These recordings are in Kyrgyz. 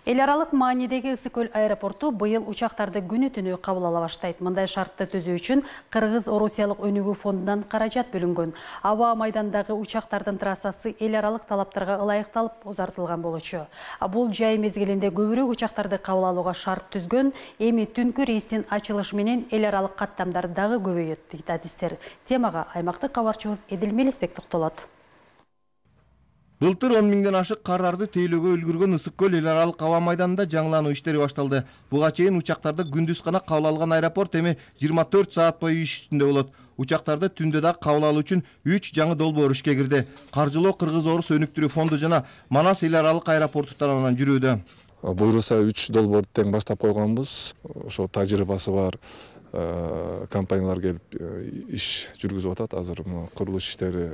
Эл аралык маанидеги Ысык көл аэропорту быйыл учактарды күнү-түнү кабыл ала баштайт. Мындай шартты түзүү үчүн Кыргыз-Орусиялык өнүгүү фондунан каражат бөлүнгөн. Аба майдандагы учактардын трассасы эл аралык талаптарга ылайыкталып узартылган болчу. Бул жай мезгилинде көбүрөөк учактарды кабыл алууга шарт түзгөн. Эми түнкү рейстин ачылышы менен эл аралык каттамдар дагы көбөйөт дейт адистер. Темага аймактык кабарчыбыз Эдил Мелисбек токтолот. Былтыр 10 миңден ашык кардарды тейлөөгө үлгүргөн Ысык көл эл аралык аба майданында жаңылануу иштери башталды. Буга чейин учактарды күндүз гана кабыл алган аэропорт эми 24 саат бою иш үстүндө болот. Учактарды түндө да кабыл алуу үчүн 3 жаңы долбоор ишке кирди. Каржылоо Кыргыз-Орус өнүктүрүү фонду жана Манас эл аралык аэропорту тарабынан жүрүүдө. Буйруса 3 долбоорду тең баштап койгонбуз. Ошо тажрыйбасы бар компаниялар келип иш жүргүзүп атат. Азыр курулуш иштери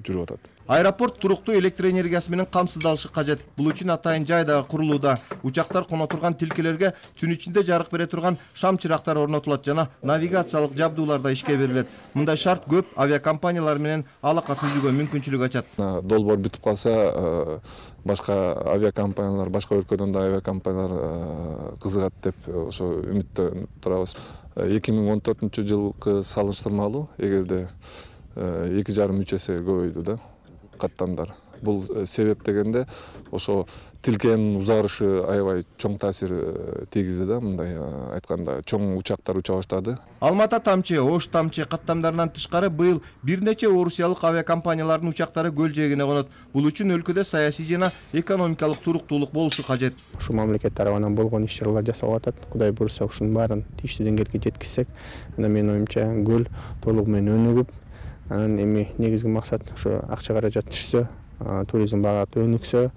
жүрүп атат. Аэропорт туруктуу электр энергиясы менен камсыздалышы кажет. Бул үчүн атайын жай дагы курулууда. Учактар коно турган тилкелерге түн ичинде жарык бере турган шам чырактар орнотулат жана навигациялык жабдуулар да ишке берилет. Мындай шарт көп авиакомпаниялар менен алака түзүүгө мүмкүнчүлүк ачат. Долбоор бүтүп калса, башка авиакомпаниялар, башка өлкөдөн да авиакомпаниялар кызыгат деп ошо үмүттө турабыз. 2014 жылкы салыштырмалуу эгерде 2,5 эсе көбөйдү да каттамдар. Бул себеп дегенде ошо тилкенин узарышы аябай чоң таасир тийгизди да, мындай айтканда чоң учактар уча баштады. Алмата тамчы, Ош тамчы каттамдарынан тышкары быйыл бир нече орусиялык авиакомпаниялардын учактары көл жээгине конот. Бул үчүн өлкөдө саясий жана экономикалык туруктуулук болушу кажет. Ушу мамлекет тарабынан болгон иш-чаралар жасалып атат. Кудай буйруса ушунун баарын тийиштүү деңгээлге жеткизсек, анда менин оюмча көл толугу менен өнүгүп, анан эми негизги максат ошо акча каражат түшсө, туризм багаты өнүксө,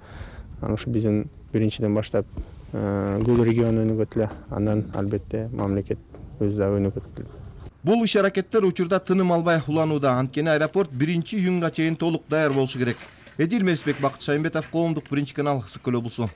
ошо биздин биринчиден баштап көл региону өнүгөт эле, андан албетте мамлекет өзү да өнүгөт. Бул иш-аракеттер учурда тыным албай уланууда. Анткени аэропорт 1-июнга чейин толук даяр болушу керек. Эдил Мелисбек, Бакыт Шаймбетов, Коомдук, Биринчи канал, Ысык көл облусу.